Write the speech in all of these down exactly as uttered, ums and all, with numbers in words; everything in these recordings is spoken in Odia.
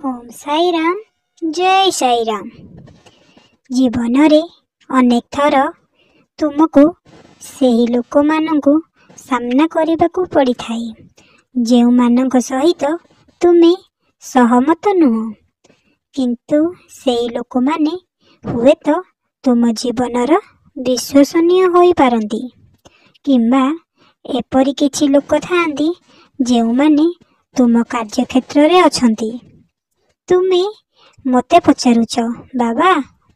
ଓମ୍ ସାଇରାମ, ଜୟ ସାଇରାମ। ଜୀବନରେ ଅନେକ ଥର ତୁମକୁ ସେହି ଲୋକମାନଙ୍କୁ ସାମ୍ନା କରିବାକୁ ପଡ଼ିଥାଏ, ଯେଉଁମାନଙ୍କ ସହିତ ତୁମେ ସହମତ ନୁହଁ, କିନ୍ତୁ ସେହି ଲୋକମାନେ ହୁଏତ ତୁମ ଜୀବନର ବିଶ୍ୱସନୀୟ ହୋଇପାରନ୍ତି। କିମ୍ବା ଏପରି କିଛି ଲୋକ ଥାଆନ୍ତି ଯେଉଁମାନେ ତୁମ କାର୍ଯ୍ୟକ୍ଷେତ୍ରରେ ଅଛନ୍ତି। ତୁମେ ମୋତେ ପଚାରୁଛ, ବାବା,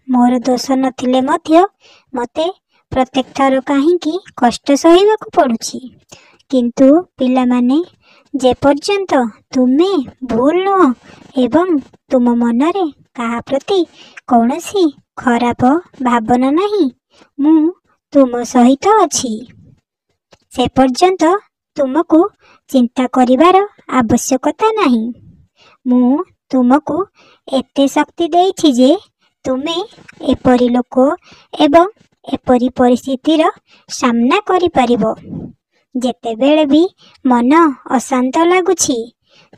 ମୋର ଦୋଷ ନଥିଲେ ମଧ୍ୟ ମୋତେ ପ୍ରତ୍ୟେକ ଥର କାହିଁକି କଷ୍ଟ ସହିବାକୁ ପଡ଼ୁଛି? କିନ୍ତୁ ପିଲାମାନେ, ଯେପର୍ଯ୍ୟନ୍ତ ତୁମେ ଭୁଲ ନୁହଁ ଏବଂ ତୁମ ମନରେ କାହା ପ୍ରତି କୌଣସି ଖରାପ ଭାବନା ନାହିଁ, ମୁଁ ତୁମ ସହିତ ଅଛି, ସେପର୍ଯ୍ୟନ୍ତ ତୁମକୁ ଚିନ୍ତା କରିବାର ଆବଶ୍ୟକତା ନାହିଁ। ମୁଁ ତୁମକୁ ଏତେ ଶକ୍ତି ଦେଇଛି ଯେ ତୁମେ ଏପରି ଲୋକ ଏବଂ ଏପରି ପରିସ୍ଥିତିର ସାମ୍ନା କରିପାରିବ। ଯେତେବେଳେ ବି ମନ ଅଶାନ୍ତ ଲାଗୁଛି,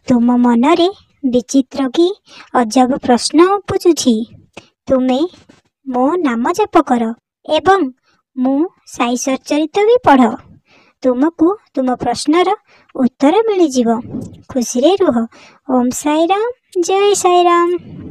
ତୁମ ମନରେ ବିଚିତ୍ର କି ଅଜବ ପ୍ରଶ୍ନ ଉପୁଜୁଛି, ତୁମେ ମୋ ନାମ ଜପ କର ଏବଂ ମୁଁ ସାଇ ସଚ୍ଚରିତ ବି ପଢ଼। ତୁମକୁ ତୁମ ପ୍ରଶ୍ନର ଉତ୍ତର ମିଳିଯିବ। ଖୁସିରେ ରୁହ। ଓମ୍ ସାଇରାମ, ଜୟ ସାଇରାମ।